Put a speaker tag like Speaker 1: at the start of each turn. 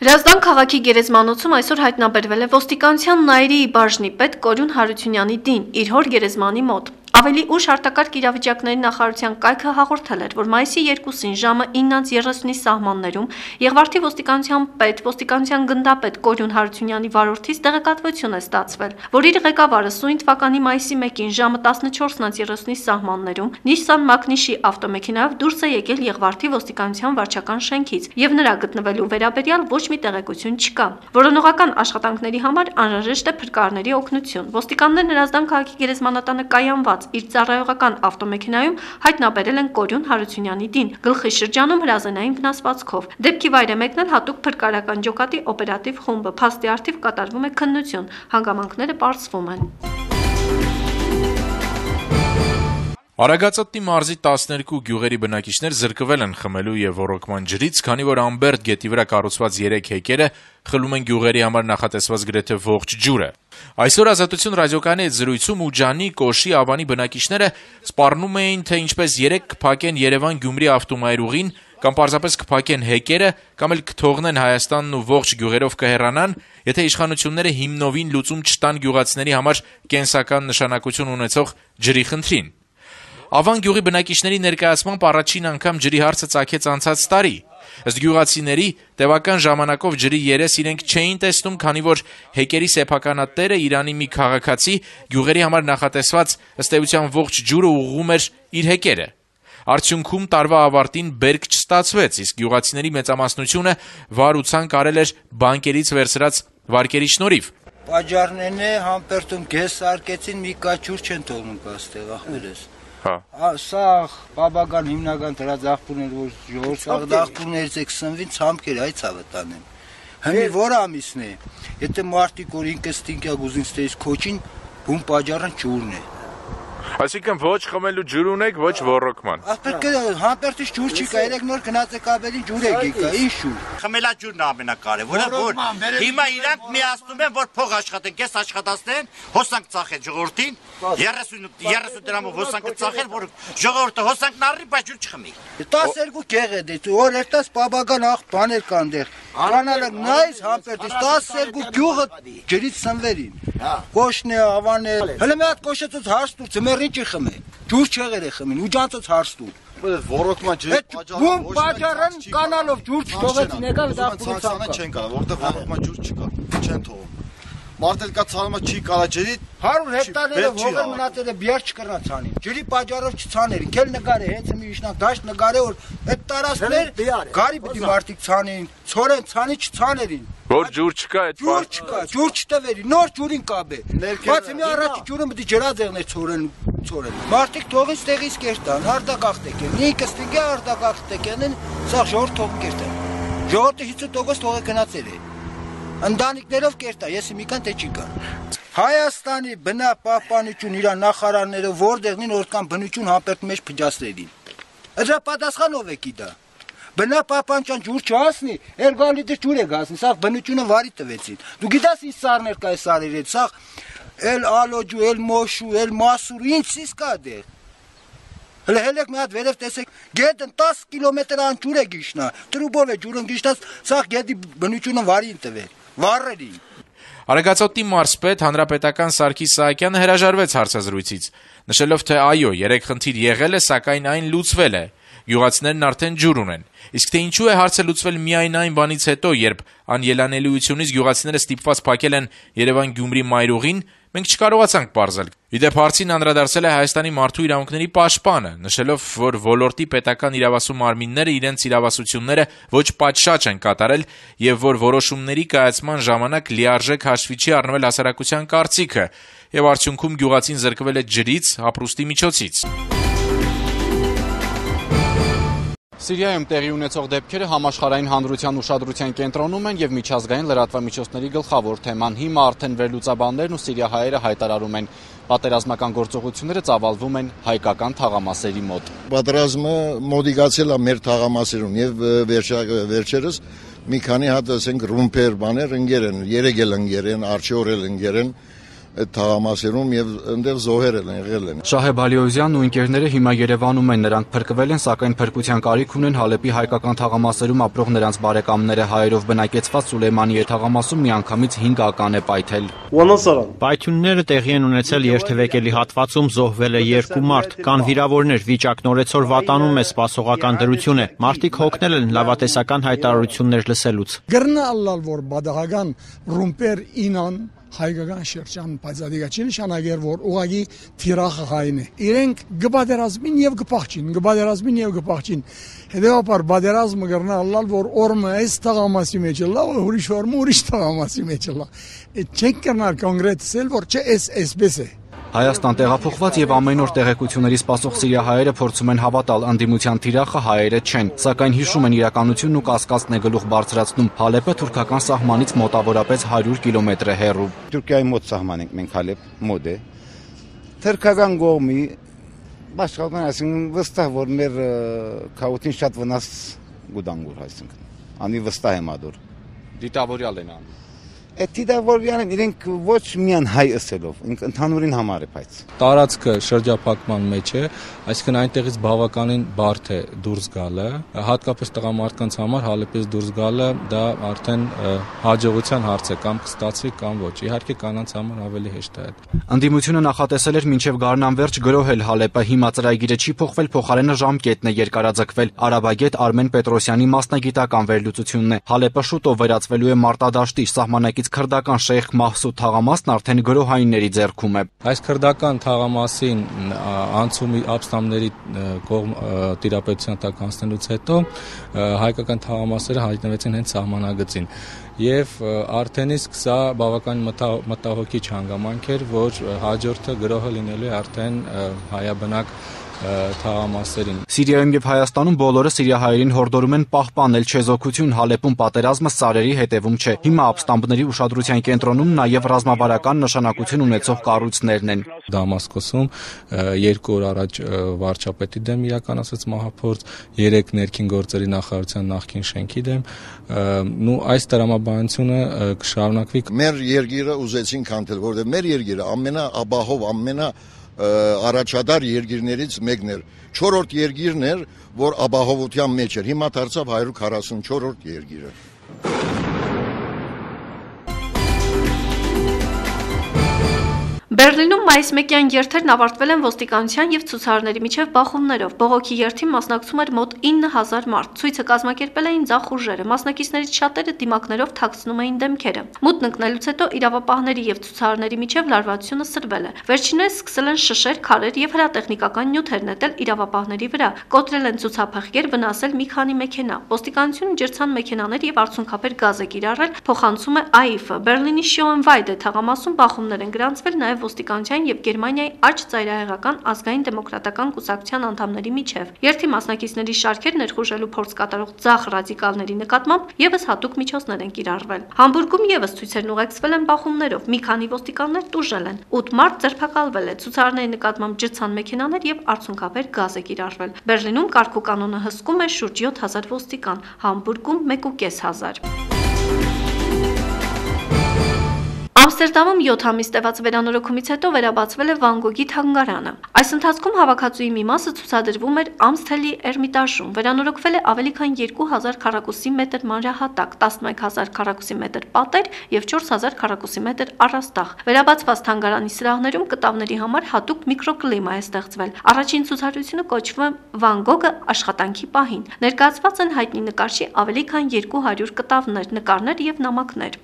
Speaker 1: Հրազդան քաղաքի գերեզմանոցում այսօր հայտնաբերվել է ոստիկանության նայրի բաժնի պետ Կորյուն Հարությունյանի դին իր հոր գերեզմանի մոտ։ Ավելի ուշ արտակարգ իրավիճակների նախարարության կայքը հաղորդել էր, որ մայիսի 2-ին ժամը 9:30-ի սահմաններում Եղվարդի ոստիկանության պետ, ոստիկանության գնդապետ Կորյուն Հարությունյանի վարորդից տեղեկատվություն է ստացվել, որ իր ղեկավարը սույն թվականի մայիսի 1-ին ժամը 14:30-ի սահմաններում Nissan Magnishի ավտոմեքենայով դուրս է եկել Եղվարդի ոստիկանության վարչական շենքից եւ նրա գտնվելու վերաբերյալ ոչ մի տեղեկություն չկա։ Որոնողական աշխատանքների համար անհրաժեշտ է փրկարարների օգնություն։ Ոստիկաններն Հրազդան քաղաքի գերեզմանատանը կայանված իր ծառայողական ավտոմեքենայում հայտնաբերել են Կորյուն Հարությունյանի դին, գլխի շրջանում հրազենային վնասվածքով։ Դեպքի վայր է մեկնել հատուկ փրկարարական ջոկատի օպերատիվ խումբը, փաստի առթիվ կատարվում է քննություն, հանգամանքները պարզվում են։
Speaker 2: Արագածոտնի մարզի 12 գյուղերի բնակիչներ զրկվել են խմելու եւ ոռոգման ջրից, քանի որ Ամբերտ գետի վրա կառուցված 3 հեկերը խլում են գյուղերի համար նախատեսված գրեթե ողջ ջուրը։ Այսօր Ազատություն ռադիոկայանի հետ զրույցում Ուջանի, Կոշի, Ավանի բնակիչները սպառնում էին, թե ինչպես 3 կփակեն Երևան-Գյումրի ավտոմայրուղին, կամ պարզապես կփակեն հեկերը, կամ էլ կթողնեն Հայաստանն ու ողջ գյուղերով կհեռանան, եթե իշխանությունները հիմնովին լուծում չտան գյուղացիների համար կենսական նշանակություն ունեցող ջրի խնդրին։ Ավան գյուղի բնակիչների ներկայացմամբ առաջին անգամ ջրի հարցը ծագեց անցած տարի։ Ըստ գյուղացիների, տևական ժամանակով ջրի երես իրենք չէին տեսնում, քանի որ հեկերի սեփականատերը Իրանի մի քաղաքացի գյուղերի համար նախատեսված ըստ էության ողջ ջուրը ուղղում էր իր հեկերը։ Արդյունքում տարվա ավարտին բերք չստացվեց, իսկ գյուղացիների մեծամասնությունը վար ու ցանկ արել էր բանկերից վերցրած վարկերի շնորհիվ։
Speaker 3: Պաճառներն է համբերտում գես արկեցին մի կաչուր չեն թողնում կաստեղ ախմերս։ Սա բաբական հիմնական դրաձախպուրներ, որ ժողովրդի դախպուրներից եք սնվին ցամքեր այց ավտանեն։ Հնի որ ամիսն է, եթե մարտիկ որ ինքը ստինկա գուզին ստեից քոչին, բուն պաճառն ջուրն է։
Speaker 2: Այսինքն ոչ խմելու ջուր ունեք, ոչ ոռոգման։
Speaker 3: Ախպեր համբերտից ջուր չի կա, երեք նոր գնաց եք ավելի ջուր եք եկա, ինչ ջուր։
Speaker 4: Խմելա ջուրն ամենակարևորը, որ հիմա իրանք միացնում են, որ փող աշխատեն, կես աշխատացնեն, հոսանք ծախեն ժողովրդին, 30 դրամով հոսանք ծախեն, որ ժողովուրդը հոսանքն առնի, բայց ջուր չխմի։
Speaker 3: 12 գեղ է դե, որ երտաս բաբական ախ բաներ կան դեր։ Կանալը նայս համբերտից 12 գյուղը ջրից սնվերին։ Կոշն է, ավան է։ Հələ մի հատ կոշեցած հարց տուր, ծմերին չի խմե։ Ջուր չեղեր է խմին, ուջանցած հարց տուր։
Speaker 5: Ոռոգման ջրի
Speaker 3: բուն պաճառն կանալով ջուր չթողեցին եկավ դախպուրից
Speaker 5: չեն կարող, որտեղ ոռոգման ջուր չկա, չեն թողում։ Մարդել կա ցանումը չի կարա ջրի
Speaker 3: 100 հեկտարներով հողեր մնացել է բիար չկրնա ցանին։ Ջրի պաճառով չցաներին, քել նկար է, հենց մի իշնակ դաշտ նկար է, որ այդ տարածքներ գարի պիտի մարդիկ ցանեին, ցորեն ցանի չցաներին։
Speaker 2: Որ ջուր չկա, այդ
Speaker 3: ջուր չկա, ջուր չտվերի, նոր ջուրին կաբե։ Բայց մի առաջի ջուրը պիտի ջրաձեղներ ցորեն։ Մարդիկ թողին ստեղից կերտան, արդակախտեք են։ Ինքը ստիգա արդակախտեք են, սա ժողովուրդ թող կերտան։ Ժողովրդի 50% թողը գնացել է։ Ընտանիքներով կերտա, եսի մի կան թե չի կան։ Հայաստանի բնապահպանություն իր նախարարները որտեղին օրքան բնություն համբերտում մեջ փճացրելին։ Դրա պատասխանով է կիդա։ Բնապահպանության ջուր չհասնի, էրգալիդը ջուր է գասնի, սա բնությունը վարի տվեցին։ Դու գիտես ինչ սարներ կա այս սարերից, սա էլ ալոջու, էլ մոշու, էլ մասուր, ինչ սիս կա դեր։ Հելեք մի հատ վերև տեսեք, գետն 10 կիլոմետր ան ջուր է գիշնա, տրուբով է ջուրն գիշնած, սա գետի բնությունը վարի տվեր, վառերի։
Speaker 2: Արագածոտնի մարզպետ հանրապետական Սարգիս Սահակյանը հրաժարվեց հարցազրույցից, նշելով, թե այո, 3 խնդիր եղել է, սակայն այն լուծվել է։ Գյուղացիներն արդեն ջուր ունեն։ Իսկ թե ինչու է հարցը լուծվել միայն այն բանից հետո, երբ անելանելիությունից գյուղացիները ստիպված փակել են Երևան-Գյումրի մայրուղին, մենք չկարողացանք պարզել։ Իդեպ հարցին անդրադարձել է Հայաստանի մարդու իրավունքների պաշտպանը, նշելով, որ ոլորտի պետական իրավասու մարմինները իրենց իրավասությունները ոչ պատշաճ են կատարել եւ որ որոշումների կայացման ժամանակ լիարժեք հաշվի չի առնվել հասարակության կարծիքը եւ արդյունքում գյուղացին զրկվել է ջրից, ապրուստի միջոցից։
Speaker 6: Սիրիայում տեղի ունեցող դեպքերը համաշխարհային հանրության ուշադրության կենտրոնում են եւ միջազգային լրատվամիջոցների գլխավոր թեման։ Հիմա արդեն վերլուծաբաններն ու սիրիահայերը հայտարարում են, պատերազմական գործողությունները ծավալվում են հայկական թաղամասերի մոտ։
Speaker 5: Պատերազմը մոդիգացել է մեր թաղամասերում եւ վերջերս մի քանի հատ ասենք ռումպեր բաներ ընկեր են, 3 էլ ընկեր են, արջի օրել ընկեր են, այդ թաղամասերում եւ այնտեղ զոհեր են եղել են։
Speaker 6: Շահեբ Ալիոզյանն ու ընկերները հիմա Երևանում են, նրանք փրկվել են, սակայն փրկության կարիք ունեն Հալեպի հայկական թաղամասերում ապրող նրանց բարեկամները։ Հայերով բնակեցված Սուլեյմանիե թաղամասում միանգամից 5 ական է պայթել։
Speaker 7: Պայթյունները տեղի են ունեցել երթևեկելի հատվածում, զոհվել է 2 մարդ, կան վիրավորներ, վիճակն օրեցօր վատանում է, սպասողական դրություն է։ Մարդիկ հոգնել են լավատեսական հայտարարություններ լսելուց։
Speaker 8: Գրնալալ որ բադաղական ռումպեր ինան հայկական շրջան բացադիգա չի նշանակեր որ ուղագի թիրախը հայն է իրենք գբադերազմին եւ գփախչին հետեւաբար բادرազմը գրնալալ որ օրմը այս տղամասի մեջ լա ուրիշ օրմը ուրիշ տղամասի մեջ լա չենք կրնալ կոնկրետել որ չէ էսպես է
Speaker 6: Հայաստան տեղափոխված եւ ամեն օր տեղեկությունների սպասող սիրիահայերը փորձում են հավատալ անդիմության թիրախը հայերը չեն, սակայն հիշում են իրականությունն ու կասկածն է գլուխ բարձրացնում։ Հալեպը թուրքական սահմանից մոտավորապես 100 կիլոմետր է հեռու։
Speaker 9: Թուրքիայի մոտ սահման ենք մենք Հալեպ մոտ է։ Թուրքական կողմի բաշխական այսինքն վստահ որ մեր քաոթին շատ վնաս գուդանգուր այսինքն։ Անի վստահ եմ ադոր։
Speaker 6: Դիտավորյալ են անում։
Speaker 9: Դիտավորյալն իրենք ոչ միան հայ ըսելով, ընդհանուրին համար է բայց։
Speaker 10: Տարածքը շրջափակման մեջ է, այսինքն այնտեղից բավականին բարդ է դուրս գալը, հատկապես տղամարդկանց համար Հալեպից դուրս գալը դա արդեն հաջողության հարց է, կամ կստացվի կամ ոչ։ Իհարկե կանանց համար ավելի հեշտ է այդ։
Speaker 6: Անդիմությունը նախատեսել էր մինչև գարնան վերջ գրոհել Հալեպը, հիմա ծրագիրը չի փոխվել, փոխարենը ժամկետն է երկարաձգվել։ Արաբագետ Արմեն Պետրոսյանի մասնագիտական վերլուծությունն է։ Հալեպը շուտով վերածվելու է մարտադաշտի, սահմանակից քրդական Շեյխ Մահսուդ թաղամասն արդեն գրոհայինների ձեռքում է։
Speaker 10: Այս քրդական թաղամասին անցումի ապստամբների կողմ տիրապետության տակ անցնելուց հետո հայկական թաղամասերը հայտնվեցին հենց սահմանագծին եւ արդեն իսկ սա բավական մտահոգիչ հանգամանք էր, որ հաջորդը գրոհը լինելու է արդեն հայաբնակ թաղամասերին։
Speaker 6: Սիրիայում եւ Հայաստանում բոլորը սիրիահայերին հորդորում են պահպանել չեզոքություն, Հալեպում պատերազմը սարերի հետևում չէ։ Հիմա ապստամբների ուշադրության կենտրոնում նաեւ ռազմավարական նշանակություն ունեցող կառույցներն են։
Speaker 10: Դամասկոսում 2 օր առաջ վարչապետի դեմ իրականացած մահափորձ, 3 ներքին գործերի նախարարության նախկին շենքի դեմ, այս տրամաբանությունը կշարունակվի։
Speaker 5: Մեր երկիրը ուզեցին քանդել, որովհետեւ մեր երկիրը ամենաաբահով, առաջադար երկիրներից մեկն էր, 4-րդ երկիրն էր, որ ապահովության մեջ էր, հիմա դարձավ 144-րդ երկիրը։
Speaker 1: Բերլինում մայիս 1-յան երթերն ավարտվել են ոստիկանության եւ ցուցարարների միջև բախումներով։ Բողոքի երթին մասնակցում էր մոտ 9000 մարդ։ Ցույցը կազմակերպել էին ձախ ուժերը։ Մասնակիցներից շատերը դիմակներով թաքցնում էին դեմքերը։ Մութն ընկնելուց հետո իրավապահների եւ ցուցարարների միջև լարվածությունը սրվել է։ Վերջիններս սկսել են շշեր, քարեր եւ հրատեխնիկական նյութեր նետել իրավապահների վրա։ Կոտրել են ցուցափեղկեր, վնասել մի քանի մեքենա։ Ոստիկանությունը ջրցան մեքենաներ եւ արցունքաբեր գազ է կիրառել, փոխանցում է AIF-ը։ Բերլինի Շոենվայդե թաղամասում բախումներ են գրանցվել նաեւ ոստիկանության եւ Գերմանիայի աջ ծայրահեղական ազգային դեմոկրատական կուսակցության անդամների միջև։ Երթի մասնակիցների շարքեր ներխուժելու փորձ կատարող ձախ ռադիկալների նկատմամբ եւս հատուկ միջոցներ են կիրառվել։ Համբուրգում եւս ցույցերն ուղեկցվել են բախումներով, մի քանի ոստիկաններ տուժել են։ 8 մարդ ձերբակալվել է, ցուցարարների նկատմամբ ջրցան մեքենաներ եւ արցունքաբեր գազ է կիրառվել։ Բերլինում կարգ ու կանոնը հսկում է շուրջ 7000 ոստիկան, Համբուրգում 1500։ Ամստերդամում 7 ամիս տևած վերանորոգումից հետո վերաբացվել է Վան Գոգի թանգարանը։ Այս ընթացքում հավաքածուի մի մասը ցուցադրվում էր Ամստելի Էրմիտաժում։ Վերանորոգվել է ավելի քան 2000 քառակուսի մետր մանրահատակ, 11000 քառակուսի մետր պատեր եւ 4000 քառակուսի մետր առաստաղ։ Վերաբացված թանգարանի սրահներում կտավների համար հատուկ միկրոկլիմա է ստեղծվել։ Առաջին ցուցադրությունը կոչվում է Վան Գոգը աշխատանքի պահին։ Ներկայացված են հայտնի նկարչի ավելի քան 200 կտավներ, նկարներ եւ նամակներ։